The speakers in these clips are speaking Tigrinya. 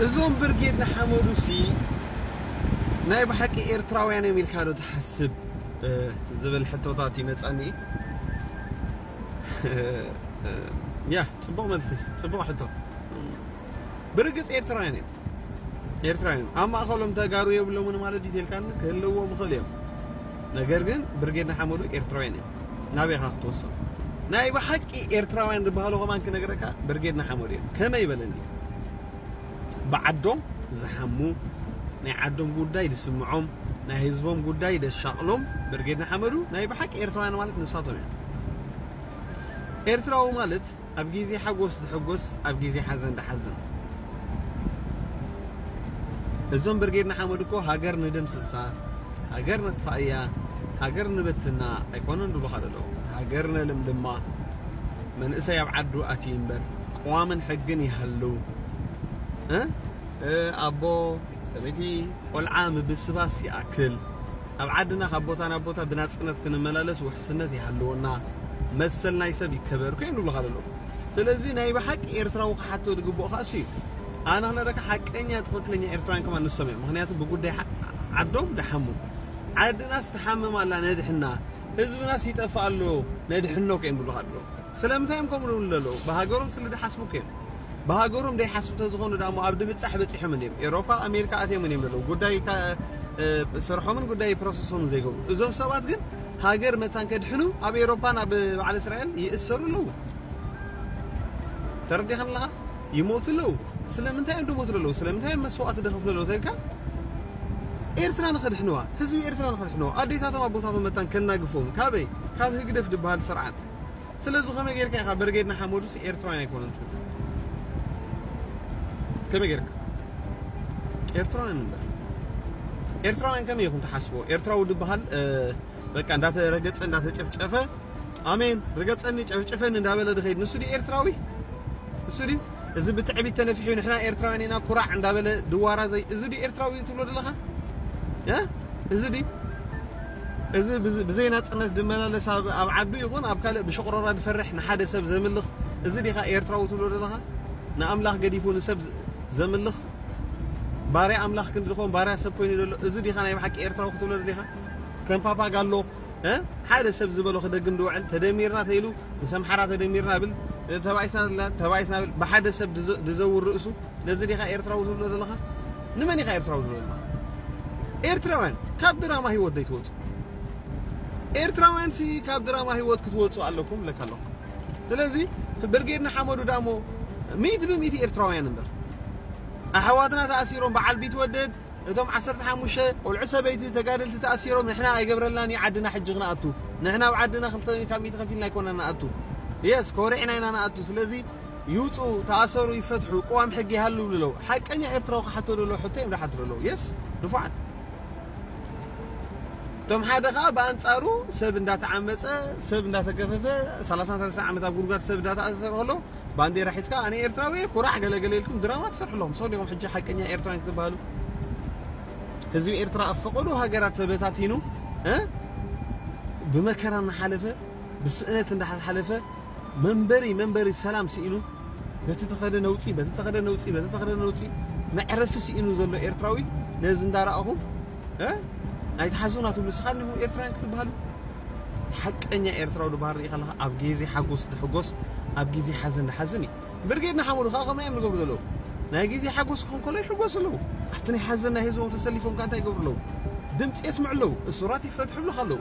እዞም ብርጌድ ንሓመዱ ሲ ናይ ብሓቂ ኤርትራውያን እዮም ኢልካ ዶ ትሓስብ ዝብል ሕቶታት ይመጻኒ። ያ ጽቡቕ መልሲ፣ ጽቡቕ ሕቶ። ብርግጽ ኤርትራውያን እዮም። ኤርትራውያን እዮም። ኣብ ማእኸሎም ተጋሩ የብሎምን ማለት ዲቴልካን ክህልዎም ይኽእል እዮም። ነገር ግን ብርጌድ ንሓመዱ ኤርትራውያን እዮም። ናበይ ኢኻ ክትወስዶ? ናይ ብሓቂ ኤርትራውያን ዝበሃሉ ከማን ክነግረካ ብርጌድ ንሓመዱ እዮም። ከመይ ይበለኒ? ብዓዶም ዝሓሙ፣ ናይ ዓዶም ጉዳይ ዝስምዖም፣ ናይ ህዝቦም ጉዳይ ዘሻቕሎም ብርጌድ ንሓመዱ ናይ ብሓቂ ኤርትራውያን ማለት ንሳቶም እዮም። ኤርትራዊ ማለት ኣብ ግዜ ሓጎስ ዝሕጎስ፣ ኣብ ግዜ ሓዘን ዝሓዝን። እዞም ብርጌድ ንሓመዱ እኮ ሃገር ንደምስሳ፣ ሃገር ነጥፋእያ፣ ሃገር ንበትና ኣይኮነን ዝብሉኻ ዘለዉ። ሃገር ነልምልማ፣ መንእሰይ ኣብ ዓዱ ኣትዩ እምበር ቅዋምን ሕግን ይሃሉ። እ? እ፣ ኣቦ፣ ሰበይቲ፣ ቆልዓ ምብስባስ ይኣክል። ኣብ ዓድና ካብ ቦታ ናብ ቦታ ብናጽነት ክንመላለስ ውሕስነት ይሃልወና፣ መሰል ናይ ሰብ ይከበር፣ ኮይኑ ይብሉኻ ዘለዉ። ስለዚ ናይ ብሓቂ ኤርትራዊ ክሓቶ ዝግብኦ ከኣ እሱ እዩ። ኣነ ክነግረካ ሓቀኛ ትኽክለኛ ኤርትራውያን ከማን ንሶም እዮም። ምኽንያቱ ብጉዳይ ሓ-፣ ዓዶም ደሓሙ። ዓድናስ ትሓምም ኣላ ነድሕና፣ ህዝብናስ ይጠፍእ ኣሎ ነድሕኖ ከዮም ይብሉኻ ኣለዉ። ስለምንታይ እዮም ከምኡ ዝብሉ ዘለዉ? ብሃገሮም ስለ ዝሓስቡ ከዮም። ብሃገሮም ዘይሓስቡ ተዝኾኑ ደኣ እሞ ኣብ ድብጻሕ በጺሖም እንድዮም። ኤውሮፓ፣ ኣሜሪካ ኣትዮም እንድዮም ዘለዉ። ጉዳይ ካ-፣ እ፣ ስርሖምን ጉዳይ ፕሮሰሶምን ዘይገብሩ። እዞም ሰባት ግን ሃገር መታን ከድሕኑ ኣብ ኤውሮፓን ኣብ በዓል እስራኤል ይእሰሩ ኣለዉ። ተረዲኻኒ ኣለኻ? ይሞቱ ኣለዉ። ስለምንታይ እዮም ዝሞቱ ዘለዉ? ስለምንታይ እዮም መስዋእቲ ዝኸፍሉ ዘለዉ ተልካ? ኤርትራ ንኸድሕንዋ፣ ህዝቢ ኤርትራ ንኸድሕንዋ፣ ኣዴታቶም ኣቦታቶም መታን ከናግፎም። ካበይ? ካብ ህግደፍ ዝበሃል ስርዓት። ስለዚ ከመይ ጌርካ ኢኻ ብርጌድ ንሓመዱስ ኤርትራውያን ኣይኮኑን ትብል? ከመይ ጌርካ? ኤርትራውያን እምበር። ኤርትራውያን ከመይ ኢኹም ትሓስቦ? ኤርትራዊ ዝበሃል፣ እ፣ በቃ እንዳተረገጸ፣ እንዳተጨፍጨፈ፣ ኣሜን፣ ርገጸኒ፣ ጨፍጭፈኒ እንዳበለ ዝኸይድ ንሱ ድዩ ኤርትራዊ? ንሱ ድዩ? እዚ ብትዕቢት ተነፊሑ ንሕና ኤርትራውያን ኢና ኩራዕ እንዳበለ ድዋራ ዘይ-፣ እዚ ድዩ ኤርትራዊ ትብሎ ዘለኻ? እ? እዚ ድዩ? እዚ ብዝ-፣ ብዘይ ናጽነት ዝመላለስ ኣብ፣ ኣብ ዓዱ ይኹን ኣብ ካልእ ብሽቕሮራ ዝፈርሕ ንሓደ ሰብ ዘምልኽ፣ እዚ ዲኻ ኤርትራዊ ትብሎ ዘለኻ? ንኣምላኽ ገዲፉ ንሰብ ዘ-፣ ዘምልኽ፣ ባርያ ኣምላኽ ክንዲ ዝኾን ባርያ ሰብ ኮይኑ ዘሎ፣ እዚ ዲኻ ናይ ብሓቂ ኤርትራዊ ክትብሎ ደሊኻ? ከም ፓፓጋሎ፣ እ? ሓደ ሰብ ዝበሎ ክደግም ዝውዕል፣ ተደሚርና ተይሉ፣ ምስ ኣምሓራ ተደሚርና ብል፣ ተባኢስና፣ ተባኢስና ብል፣ ብሓደ ሰብ ድዘ-፣ ድዘውር ርእሱ፣ ነዚ ዲኻ ኤርትራዊ ትብሎ ዘለኻ? ንመን ኢኻ ኤርትራዊ ትብሎ ዘለኻ? ኤርትራውያን ካብ ድራማ ህይወት ዘይትወጹ። ኤርትራውያን ሲ ካብ ድራማ ህይወት ክትወጹ ኣለኩም ብለካ ኣለኹ። ስለዚ ብርጌድ ንሓመዱ ዳሞ ሚእቲ ብሚእቲ ኤርትራውያን እምበር። ኣሕዋትና ተኣሲሮም፣ በዓል ቢትወደድ፣ እቶም ዓሰርተ ሓሙሽተ ቆልዑ ሰበይቲ ተጋደልቲ ተኣሲሮም፣ ንሕና ኣይገብረልናን እዩ ዓድና ሕጂ ክንኣቱ። ንሕና ኣብ ዓድና ክልተ ካብ ሚእቲ ከፊልና ኣይኮናን ንኣቱ። የስ፣ ኮሪዕና ኢና ንኣቱ። ስለዚ ይውፁ፣ ተኣሰሩ፣ ይፈትሑ፣ ቅዋም ሕጊ ይሃሉ ይብሉ ኣለዉ። ሓቀኛ ኤርትራዊ ክሓቶ ዘሎ ሕቶ እዮም ዝሓትሩ ኣለዉ። የስ፣ ንፉዓት። እቶም ሓደ ኸዓ ብኣንጻሩ ሰብ እንዳተዓመጸ፣ ሰብ እንዳተገፈፈ፣ ሰላሳ ሰለስተ ዓመት ኣብ ጉድጓድ ሰብ እንዳተኣሰረ ከሎ፣ ባንዴራ ሒዝካ ኣነ ኤርትራዊ እየ፣ ኩራዕ ገለ ገለ ኢልኩም ድራማ ትሰርሑ ኣለኹም። ሰው ዲኹም ሕጂ ሓቀኛ ኤርትራውያን ክትበሃሉ? ህዝቢ ኤርትራ ኣብ ፈቐዶ ሃገራት ተበታቲኑ፣ እ? ብመከራ እናሓለፈ፣ ብስእነት እንዳሓለፈ፣ መንበሪ፣ መንበሪ ሰላም ስኢኑ፣ በቲ ተኸደ ነውፂ፣ በቲ ተኸደ ነውፂ፣ በቲ ተኸደ ነውፂ፣ መዕረፊ ስኢኑ ዘሎ ኤርትራዊ ነዚ እንዳረኣኹም፣ እ? ኣይትሓዙና ትብሉ ስኻን ኢኹም ኤርትራውያን ክትበሃሉ? ሓቀኛ ኤርትራዊ ዝበሃል ርኢ ከለኻ ኣብ ግዜ ሓጎስ ዝሕጎስ፣ ኣብ ግዜ ሓዘን ዝሓዝን እዩ። ብርጌድ ንሓመዱ ከዓ ከምኡ እዮም ዝገብሩ ዘለዉ። ናይ ግዜ ሓጎስ ክኾን ከሎ ይሕጎሱ ኣለዉ። ኣብቲ ናይ ሓዘን ናይ ህዝቦም ተሰሊፎም ከዓ እንታይ ይገብሩ ኣለዉ? ድምፂ የስምዑ ኣለዉ። እሱራት ይፈትሑ ይብሉኻ ኣለዉ።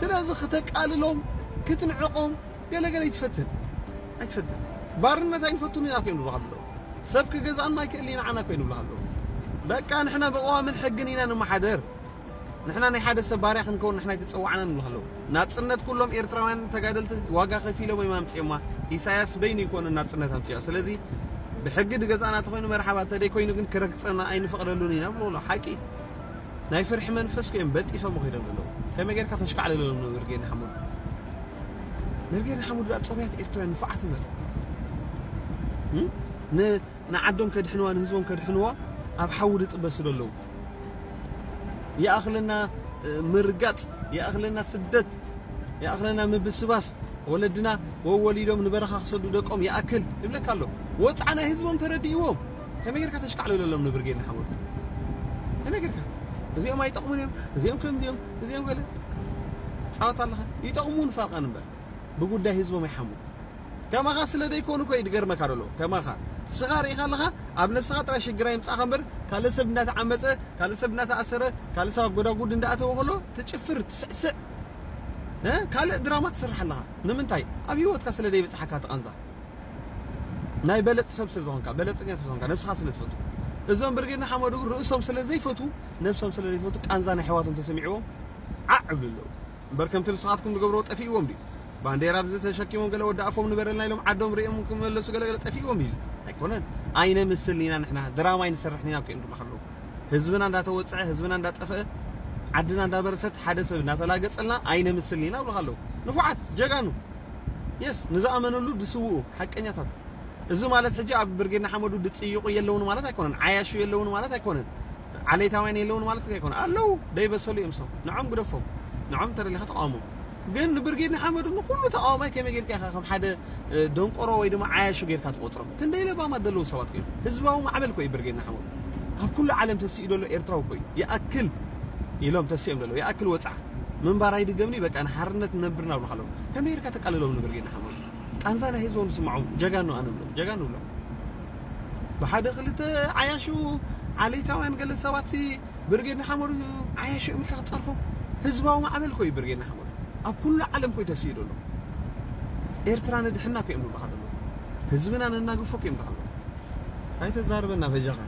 ስለዚ ክተቃልሎም፣ ክትንዕቆም፣ ገለገለ ይትፈትን። ኣይትፈትን። ባርነት ኣይንፈቱን ኢና እዮም ዝብሉኻ ኣለዉ። ሰብ ክገዝኣና ኣይክእልን ኢና ንዓና እኮ እዮም ዝብሉኻ ኣለዉ። በቃ ንሕና ብቕዋምን ሕግን ኢና ንመሓደር። ንሕና ናይ ሓደ ሰብ ባርያ ክንከውን ንሕና ኣይተጸዋዕናን ንብሉ ኣለዉ። ናጽነት ኩሎም ኤርትራውያን ተጋደልቲ ዋጋ ከፊሎም እዮም ኣምጺኦማ። ኢሳያስ በይኑ ይኮነ ናጽነት ኣምጺኦ። ስለዚ ብሕጊ ድገዛእና ተኾይኑ መርሓባ፣ ተደይ ኮይኑ ግን ክረግጸና ኣይንፈቕደሉን ኢና ብሎ ኣሎ። ሓቂ። ናይ ፍርሒ መንፈስ እዮም በጢሶም ከይዶም ዘለዉ። ከመይ ጌርካ ተሽካዕልለሎም ንብርጌድ ንሓመዱ? ብርጌድ ንሓመዱ ደኣ ጽሩያት ኤርትራውያን ንፉዓት እምበር። እም? ን-፣ ንዓዶም ከድሕንዋ፣ ንህዝቦም ከድሕንዋ ኣብ ሓዊ ዝጥበሱ ዘለዉ። ይኣኽለና፣ እ፣ ምርጋጽ፣ ይኣኽለና ስደት፣ ይኣኽለና ምብስባስ፣ ወለድና ወወሊዶም ንበረኻ ክሰዱ ደቆም ይኣክል ይብለካ ኣሎ። ወጽዓ ናይ ህዝቦም ተረዲእዎም። ከመይ ጌርካ ተሽካዕልለሎም ንብርጌድ ንሓመዱ? ከመይ ጌርካ? እዚኦም ኣይጠቕሙን እዮም፣ እዚኦም ከምዚኦም፣ እዚኦም ገለ ጻወት ኣለኻ። ይጠቕሙን ፋልቃን እምበር ብጉዳይ ህዝቦም ኣይሓሙ። ከማኻ ስለ ደይኮኑ እኮ እዩ ዝገርመካ ዘሎ። ከማኻ ስኻ ርኢኻ ኣለኻ፣ ኣብ ነብስኻ ጥራይ ሽግር ኣይምጻእካ እምበር ካልእ ሰብ እንዳተዓመጸ፣ ካልእ ሰብ እንዳተኣሰረ፣ ካልእ ሰብ ኣብ ጎዳጉድ እንዳኣተወ ከሎ ትጭፍር ትስዕስዕ፣ እ? ካልእ ድራማ ትሰርሕ ኣለኻ። ንምንታይ? ኣብ ህይወትካ ስለ ደይበጽሓካ ትቓንዛ። ናይ በለጽ ሰብ ስለ ዝኾንካ፣ በለጸኛ ስለ ዝኾንካ፣ ነብስኻ ስለ ትፈቱ። እዞም ብርጌድ ንሓመዱ ርእሶም ስለ ዘይፈቱ፣ ነብሶም ስለ ዘይፈቱ ቃንዛ ናይ ኣሕዋቶም ተሰሚዕዎም ዓዕ እብሉ ኣለዉ። እምበር ከምቲ ንስኻትኩም ዝገብርዎ ጠፊእዎም ድዩ? ባንዴራ ብዚ ተሸኪሞም ገለ ወዲ ኣፎም ንበረልና ኢሎም ዓዶም ርእዮም ክመለሱ ገለ ገለ ጠፊእዎም እዩ። ኣይኮነን። ኣይነምስልን ኢና ንሕና፣ ድራማ ኣይንሰርሕን ኢና እኮ እዮም ዝብሉኻ ኣለዉ። ህዝብና እንዳተወጽዐ፣ ህዝብና እንዳጠፍአ፣ ዓድና እንዳበረሰት፣ ሓደ ሰብ እንዳተላገጸልና ኣይነምስልን ኢና ይብሉኻ ኣለዉ። ንፉዓት፣ ጀጋኑ። የስ፣ ንዝኣመነሉ ዝስውኡ ሓቀኛታት። እዚ ማለት ሕጂ ኣብ ብርጌድ ንሓመዱ ዝጽይቑ የለውን ማለት ኣይኮነን። ዓያሹ የለውን ማለት ኣይኮነን። ዓሌታውያን የለውን ማለት ኣይኮነን። ኣለዉ፣ ደይበሰሉ እዮም እሶም። ንዖም ግደፎም። ንዖም ተደሊኻ ተቃወሞም። ግን ንብርጌድ ንሓመዱ ንኹሉ ተቃዋማይ ከመይ ጌርካ ኢኻ ከም ሓደ፣ እ፣ ደንቆሮ ወይ ድማ ዓያሹ ጌርካ ትቆጽሮም? ክንደይ ለባማት ዘለዉ ሰባት እዮም። ህዝባዊ ማዕበል እኮ እዩ ብርጌድ ንሓመዱ። ኣብ ኩሉ ዓለም ተሲኡ ዘሎ ኤርትራዊ እኮ እዩ። ይኣክል ኢሎም ተሲኦም ዘለዉ። ይኣክል ወጽዓ። ምንባር ኣይድገምኒ፣ በቃ ንሓርነት ንነብር እናብሉኻ ኣለዉ። ከመይ ጌርካ ተቃልሎም ንብርጌድ ንሓመዱ? ቃንዛ ናይ ህዝቦም ዝስምዖም ጀጋኑ ኣነ ብሎም፣ ጀጋኑ ብሎም። ብሓደ ክልተ ዓያሹ ዓሌታውያን ገለ ሰባት ሲ ብርጌድ ንሓመዱ ዓያሹ እዮም ኢልካ ክትጸርፎም? ህዝባዊ ማዕበል እኮ እዩ ብርጌድ ንሓመዱ። ኣብ ኩሉ ዓለም እኮ እዩ ተሲኡ ዘሎ። ኤርትራ ነድሕና እኮ እዮም ዝብሉኻ ዘለዉ። ህዝብና ነናግፎ እኮ እዮም ዝብሉኻ ዘለዉ። ኣይተዛርበና በጃኻ።